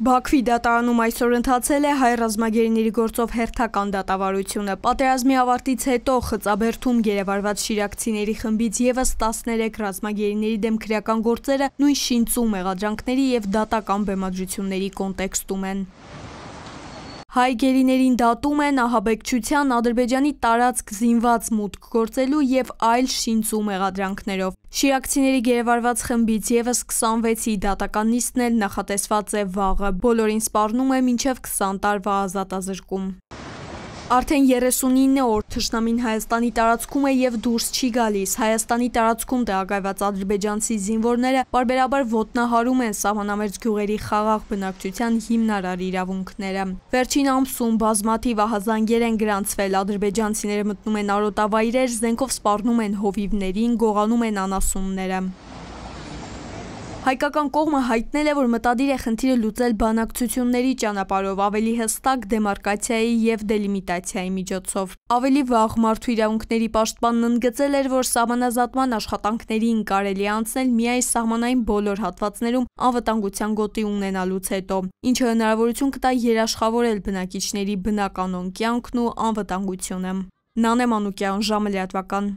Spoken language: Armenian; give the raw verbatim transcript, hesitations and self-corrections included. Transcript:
Բաքվի դատարանում այսօր ընթացել է հայ ռազմագերիների գործով հերթական դատավարությունը։ Պատերազմի ավարտից հետո Խծաբերդում գերեվարված շիրակցիների խմբից ևս տասներեք ռազմագերիների դեմ քրեական գործերը նույն շինծու մեղադրանքների և դատական բեմադրությունների կոնտեքստում են։ Հայ գերիներին դատում են ահաբեկչության, Ադրբեջանի տարածք զինված մուտք գործելու և այլ շինծու մեղադրանքներով։ Շիրակցիների գերեվարված խմբից ևս քսանվեցի դատական նիստն էլ նախատեսված է վաղը, բոլորին սպառնում է մինչև քսան տարվա ազատազրկում։ Արդեն երեսունինը օր թշնամին Հայաստանի տարածքում է և դուրս չի գալիս։ Հայաստանի տարածքում տեղակայված ադրբեջանցի զինվորները պարբերաբար ոտնահարում են սահմանամերձ գյուղերի խաղաղ բնակչության հիմնարար իրավունքները։ Վերջին ամսում բազմաթիվ ահազանգեր են գրանցվել, ադրբեջանցիները մտնում են արոտավայրեր, զենքով սպառնում են հովիվներին, գողանում են անասունները։ Հայկական կողմը հայտնել է, որ մտադիր է խնդիրը լուծել բանակցությունների ճանապարհով, ավելի հստակ դեմարկացիայի և դելիմիտացիայի միջոցով։ Ավելի վաղ Մարդու իրավունքների պաշտպանն ընդգծել էր, որ սահմանազատման աշխատանքներին կարելի է անցնել միայն սահմանային բոլոր հատվածներում անվտանգության գոտի ունենալուց հետո, ինչը հնարավորություն կտա երաշխավորել բնակիչների բնականոն կյանքն ու անվտանգությունը։ Նանե Մանուկյան, ժամը լրատվական։